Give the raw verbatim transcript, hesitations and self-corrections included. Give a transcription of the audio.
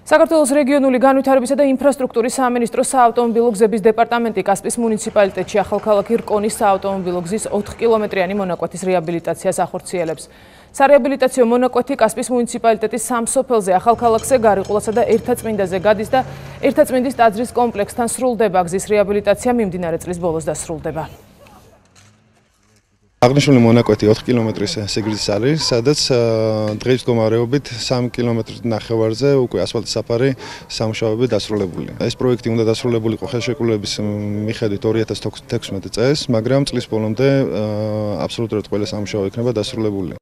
საქართველოს რეგიონული განვითარებისა და ინფრასტრუქტურის სამინისტროს საავტომობილო გზების დეპარტამენტი კასპის მუნიციპალიტეტში ახალქალაქი რკონის საავტომობილო გზის ოთხ კილომეტრიანი მონაკვეთის რეაბილიტაციას ახორციელებს. სარეაბილიტაციო მონაკვეთი კასპის მუნიციპალიტეტის სამ სოფელზე ახალქალაქზე, გარიყულასა და ერთაწმინდაზე გადის და ერთაწმინდის ტაძრის კომპლექსთან სრულდება. გზის რეაბილიტაცია მიმდინარე წლის ბოლოს დასრულდება. აღნიშნული მონაკვეთი ოთხ კილომეტრის სიგრძის არის, სადაც დღის მდგომარეობით სამი კილომეტრის ნახევარზე უკვე ასფალტის საფარი სამუშაოები დასრულებული. ეს პროექტი უნდა დასრულებულიყო ხელშეკრულების მიხედვით ორი ათას თექვსმეტი წელს, მაგრამ წლის ბოლომდე აბსოლუტურად ყველა სამუშაო იქნება დასრულებული.